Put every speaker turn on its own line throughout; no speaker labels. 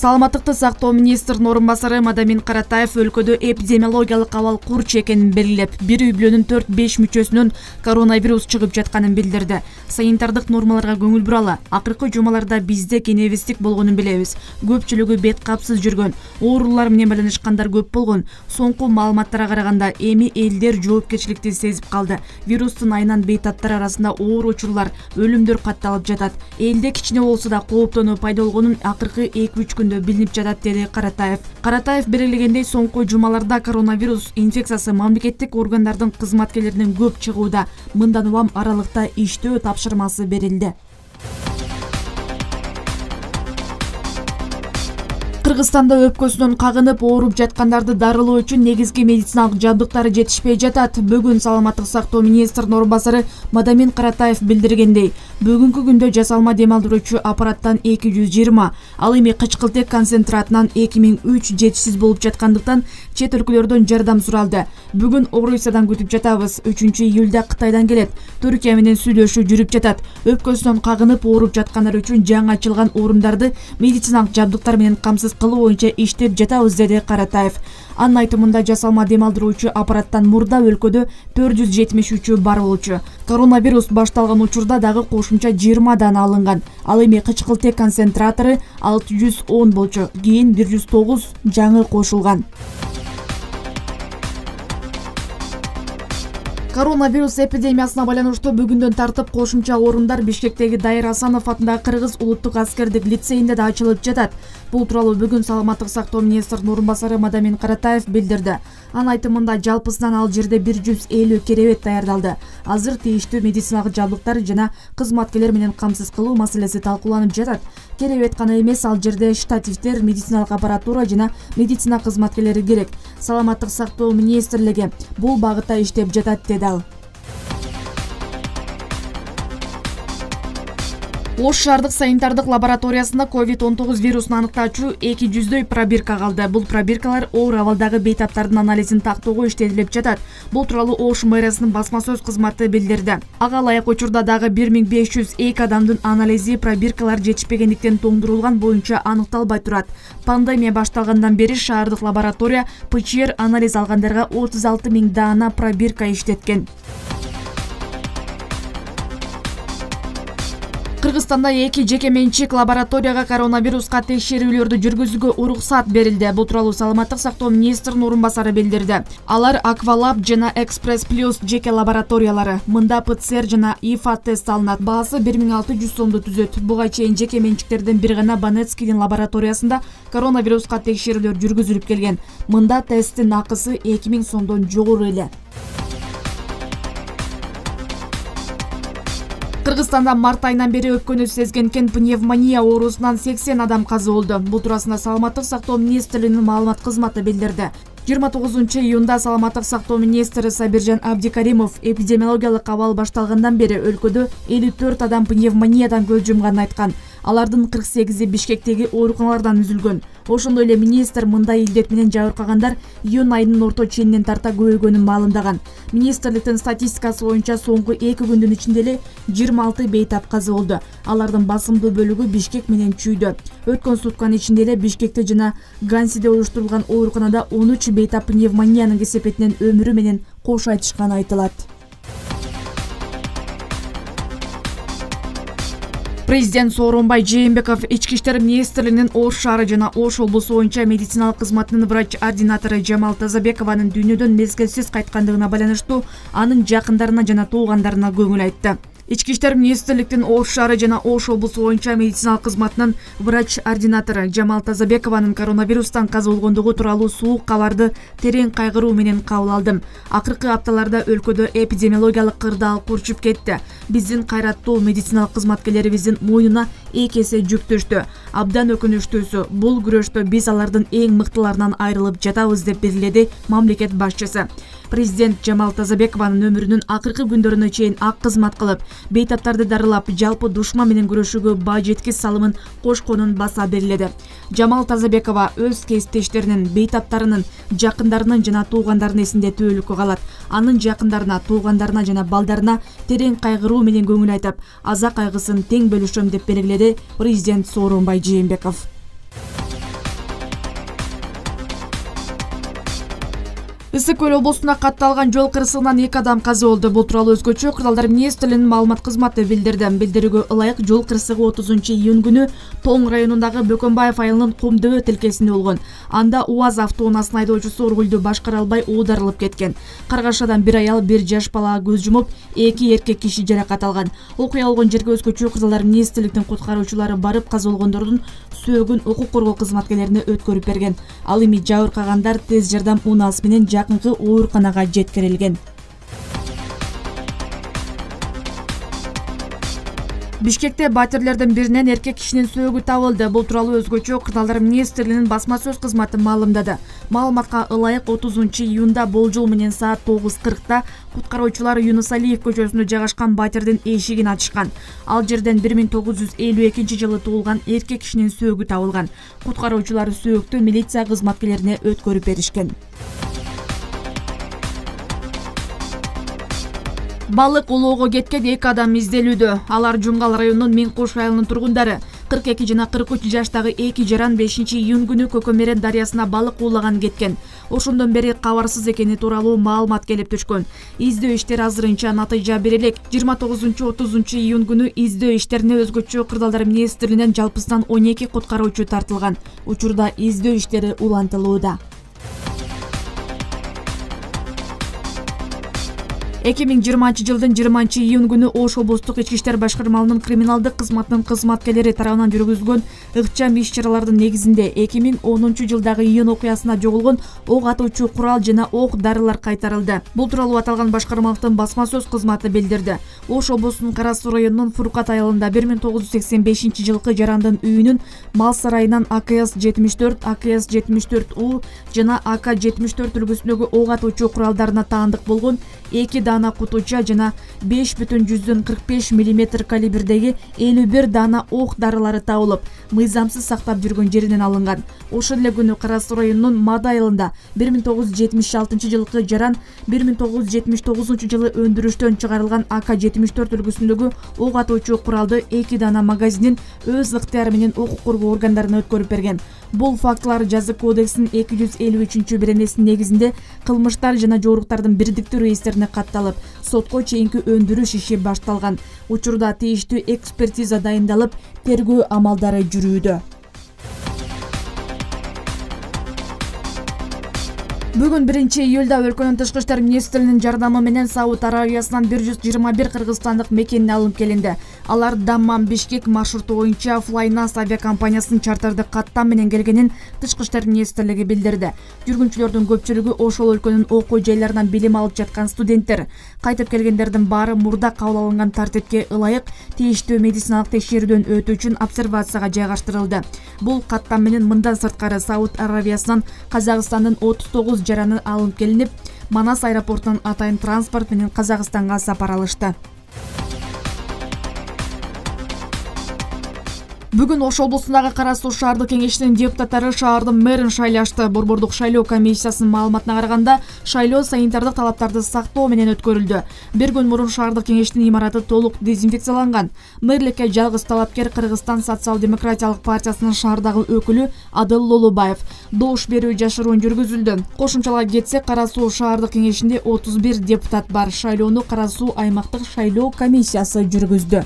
Саламаттыкты сактоо министринин орун басары Мадамин Каратаев өлкөдө эпидемиологиялык абал курч экенин белгилеп, бир үй-бүлөнүн 4-5 мүчөсүнөн коронавирус чыгып жатканын билдирди. Санитардык нормаларга көңүл буралы. Акыркы жумаларда бизде кенебиздик болгонун билебиз. Көпчүлүгү бет капсыз жүргөн, оорулар менен байланышкандар көп болгон. Соңку маалыматтарга караганда эми элдер жоопкерчиликти сезип калды. Вирустун айынан бейтаптар арасында оор учурлар, өлүмдөр катталып жатат. Элде кичине болсо да кооптонуу пайда болгонун акыркы 2-3 күндө билинип жатат, деди Каратаев. Каратаев белгилегендей, соңку жумаларда коронавирус инфекциясы мамлекеттик органдардын кызматкерлеринен көп чыгууда. Мындан улам аралыкта иштөө тапшырмасы берилди. Кыргызстанда өпкөсүнөн кагынып ооруп жаткандарды дарылоо үчүн негизги медициналык жабдыктар жетишпей жатат. Бүгүн саламаттык сактоо министринин орун басары Мадамин Каратаев билдиргендей, бүгүнкү күндө жасалма дем алдыруучу аппараттан 220, ал эми кычкылтек концентратынан 2003 жетишсиз болуп жаткандыктан чет өлкөлөрдөн жардам суралды. Бүгүн Орусиядан күтүп жатабыз. 3-июлда Кытайдан келет. Түркия менен сүйлөшүү жүрүп жатат. Өпкөсүнөн кагынып ооруп жаткандар үчүн жаңы ачылган орундарды медициналык жабдыктар менен камсыз кылуу боюнча иштеп жатабыз, деди Каратаев. Анын айтымында жасалма дем алдыруучу аппараттан мурда өлкөдө 473 бар болчу. Коронавирус башталган учурда дагы кошумча 20 дана алынган. Ал эми кычкылтек концентратору 610 болчу. Кийин 109 жаңы кошулган. Коронавирус эпидемиясына байланыштуу бүгүндөн тартып кошумча орундар Бишкектеги Дайыр Асанов атындагы Кыргыз улуттук аскердик лицейинде да ачылып жатат. Бул тууралуу бүгүн саламаттык сактоо министринин орун басары Мадамин Каратаев билдирди. Анын айтымында жалпысынан ал жерде 150 керебет даярдалды. Азыр тийиштүү медициналык жабдыктар жана кызматкерлер менен камсыз кылуу маселеси талкууланып жатат. Керебет гана эмес, ал жерде штативдер, медициналык аппаратура жана медицина кызматкерлери керек. Саламаттык сактоо министрлиги бул багытта иштеп жатат, деди ал. Ош шаардык санитардык лабораториясында COVID-19 вирусун аныктаачу 200дөй пробирка калды. Бул пробиркалар оор абалдагы бейтаптардын анализин тактоого иштетилип жатат. Бул тууралуу Ош мэриясынын басма сөз кызматы билдирди. Ага ылайык учурда дагы 1502 адамдын анализи пробиркалар жетишпегендиктен тоңдурулган боюнча аныкталбай турат. Пандемия башталгандан бери шаардык лаборатория ПЧР анализ алгандарга 36 000 даана пробирка иштеткен. Кыргызстанда 2 жеке менчик лабораторияга коронавируска текшерүүлөрдү жүргүзүүгө уруксат берилди. Бул тууралуу саламаттык сактоо министринин орун басары билдирди. Алар Аквалаб жана Экспресс Плюс жеке лабораториялары. Мында ПЦР жана ИФА тест алынат. Баасы 1600 сомду түзөт. Буга чейин жеке менчиктерден бир гана Банецкийдин лабораториясында коронавируска текшерүүлөр жүргүзүлүп келген. Мында тесттин акысы 2000 сомдон жогору эле. Кыргызстанда март айынан бери өпкөнү сезгенкен пневмония оорусунан 80 адам каза болду. Бул туурасында саламаттык сактоо министрлигинин маалымат кызматы билдирди. 29-июнда саламаттык сактоо министри Сабиржан Абдикаримов эпидемиологиялык абал башталгандан бери өлкөдө 54 адам пневмониядан көз жумганын айткан. Алардын 48-и Бишкектеги ооруканалардан үзүлгөн. Ошондой эле министр мындай илдет менен жабыркагандар июнь айынын орто ченинен тарта көбөйгөнүн маалымдаган. Министрликтин статистикасы боюнча соңку 2 күндүн ичинде эле 26 бейтап каза болду. Алардын басымдуу бөлүгү Бишкек менен Чүйдө. Өткөн сутканын ичинде эле Бишкекте жана Гансиде уюштурулган ооруканада 13 бейтап пневмониянын кесепетинен өмүрү менен кош айтышканы айтылат. Президент Сооронбай Жээнбеков Ички иштер министрлигинин Ош шаары жана Ош облусу боюнча медициналык кызматынын врач-ординатору Жамал Тазабекованын дүйнөдөн мезгилсиз кайткандыгына байланыштуу анын жакындарына жана туугандарына көңүл айтты. Ички иштер министрликтин Ош шаары жана Ош облусу боюнча медициналык кызматынын врач-ординатору Жамал Тазабекованын коронавирустан каза болгондугу тууралуу суук кабарды терең кайгыруу менен кабыл алдым. Акыркы апталарда өлкөдө эпидемиологиялык кырдаал курчуп кетти. Биздин кайраттуу медициналык кызматкерлерибиздин мойнуна эки эсе жүк түштү. Абдан өкүнүчтүүсү, бул күрөштө биз алардын эң мыктыларынан айрылып жатабыз, деп белгиледи мамлекет башчысы. Президент Жамал Тазабекованын өмүрүнүн акыркы күндөрүнө чейин ак кызмат кылып, бейтаптарды дарылап, жалпы душман менен күрөшүүгө баа жеткис салымын кошконун баса белгиледи. Жамал Тазабекова өз кесиптештеринин, бейтаптарынын, жакындарынын жана туугандарынын эсинде түбөлүккө калат. Анын жакындарына, туугандарына жана балдарына терең кайгыруу менен көңүл айтып, аза кайгысын тең бөлүшөм, деп белгиледи президент Сооронбай Жээнбеков. Ысык Көл облусунда катталган жол кырсыгынан 2 адам каза болду. Бул тууралуу өзгөчө Кырдаалдар министрлигинин маалымат кызматы билдирди. Билдирүүгө ылайык жол кырсыгы 30-июнь күнү Тоң районундагы Бөкөнбаев айылынын Кумдөбө тилкесинде болгон. Анда УАЗ автоунаасынын айдоочусу рулду башкара албай оодарылып кеткен. Каргашадан бир аял, бир жаш балага көз жумуп, 2 эркек киши жаракат алган. Окуя болгон жерге өзгөчө Кырдаалдар министрлигинин куткаруучулары барып, каза болгондордун сөөгүн укук коргоо кызматкерлерине өткөрүп берген. Ал эми жабыркагандар тез жардам унаасы менен жакынкы ооруканага жеткирилген. Бишкекте батирлердин биринен эркек кишинин сөөгү табылды. Бул тууралуу өзгөчө Кырдаалдар министрлигинин басма сөз кызматы маалымдады. Маалыматка ылайык 30-июнда болжол менен саат 9:40 куткаруучулар Юнус Алиев көчөсүндө жайгашкан батирдин эшигин ачышкан. Ал жерден 1952-жылы туулган эркек кишинин сөөгү табылган. Куткаруучулар сөөктү милиция кызматкерлерине өткөрүп беришкен. Балык улоого кеткен 2 адам изделүүдө. Алар Жумгал районунун Миңкуш айылынын тургундары. 42 жана 43 жаштагы 2 жаран 5-июнь күнү Көкөмерен дарыясына балык уулаган кеткен. Ошондон бери кабарсыз экени тууралуу маалымат келип түшкөн. Издөө иштери азырынча натыйжа бере элек. 29-30 июнь күнү издөө иштерине өзгөчө Кырдаалдар министрлигинен жалпысынан 12 куткаруучу тартылган. Учурда издөө иштери улантылууда. 2020-жылдын 20-июнь күнү Ош облустук ички иштер башкармалыгынын криминалдык кызматынын кызматкерлери тарабынан жүргүзүлгөн ыкчам иш-чаралардын негизинде 2010-жылдагы июнь окуясына жоголгон ок атуучу курал жана ок дарылар кайтарылды. Бул тууралуу аталган башкармалыктын басма сөз кызматы билдирди. Ош облусунун Кара Суу районунун Фуркат айылында 1985-жылкы жарандын үйүнүн мал сарайынан АКС-74, АКС-74У жана АК-74 үлгүсүндөгү ок атуучу куралдарына таандык болгон 2 дана кутуча жана 5,45 мм калибрдеги 51 дана ок дарылары табылып, мыйзамсыз сактап жүргөн жеринен алынган. Ошол эле күнү Кара Суу районунун Мада айылында 1976-жылкы жаран 1979-жылы өндүрүштөн чыгарылган АК-74 үлгүсүндөгү ок атуучу куралды 2 дана магазинин өз ыктыяры менен укук коргоо органдарына өткөрүп берген. Бул фактылар Жазык кодексинин 253-беренесинин негизинде кылмыштар жана жоруктардын бирдиктүү реестрине катталып, сотко чейинки өндүрүш иши башталган. Учурда тийиштүү экспертиза дайындалып, тергөө амалдары жүрүүдө. Бүгүн 1-июлда өлкөнүн тышкы иштер министринин жардамы менен Сауд Аравиясынан 121 кыргызстандык мекенine алынып келинди. Алар Даммам-Бишкек маршруту боюнча Flynas авиакомпаниясынын чартерди каттам менен келгенин тышкы иштер министрлиги билдирди. Жүргүнчүлөрдүн көпчүлүгү ошол өлкөнүн окуу жайларынан билим алып жаткан студенттер. Кайтып келгендердин баары мурда кабыл алынган тартипке ылайык тийиштүү медициналык текшерүүдөн өтүү үчүн обсервацияга жайгаштырылды. Бул каттам менен мындан сырткары Сауд Аравиясынан Казакстандын 39 жараны алынып келинип, Манас аэропортунан атайын транспорт менен Казакстанга сапар алышты. Бүгүн Ош облусундагы Кара Суу шаардык кеңешинин депутаттары шаардын мэрин шайлашты. Борбордук шайлоо комиссиясынын маалыматына караганда, шайлоо санитардык талаптарды сактоо менен өткөрүлдү. Бир күн мурун шаардык кеңештин имараты толук дезинфекцияланган. Мэрликке жалгыз талапкер Кыргызстан социал-демократиялык партиясынын шаардагы өкүлү Адыл Лолубаев. Добуш берүү жашыруун жүргүзүлдү. Кошумчалап кетсек, Кара Суу шаардык кеңешинде 31 депутат бар. Шайлоону Кара Суу аймактык шайлоо комиссиясы жүргүздү.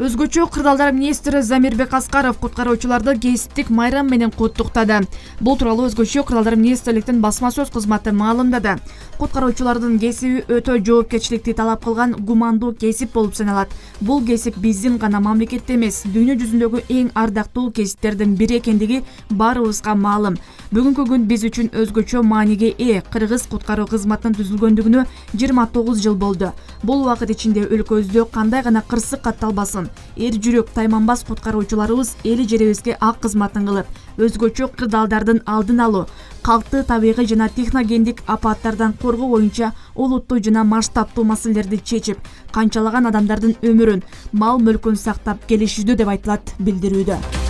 Өзгөчө Кырдаалдар министри Замирбек Аскаров куткаруучуларды кесиптик майрам менен куттуктады. Бул тууралуу өзгөчө Кырдаалдар министрликтин басма сөз кызматы маалымдады. Куткаруучулардын кесиби өтө жоопкерчиликти талап кылган гумандуу кесип болуп саналат. Бул кесип биздин гана мамлекетте эмес, дүйнө жүзүндөгү эң ардактуу кесиптердин бири экендиги баарыбызга маалым. Бүгүнкү күн биз үчүн өзгөчө мааниге ээ. Кыргыз куткаруу кызматынын түзүлгөндүгүнө 29 жыл болду. Бул убакыт ичинде өлкөбүздө кандай гана кырсык катталбасын, эр жүрөк тайманбас куткаруучуларыбыз эли жерибизге ак кызматын кылып, өзгөчө кырдаалдардын алдын алуу, калкты табигый жана техногендик апаттардан коргоо боюнча олуттуу жана масштабтуу маселелерди чечип, канчалаган адамдардын өмүрүн, мал мүлкүн сактап келишүүдө деп айтылат билдирүүдө.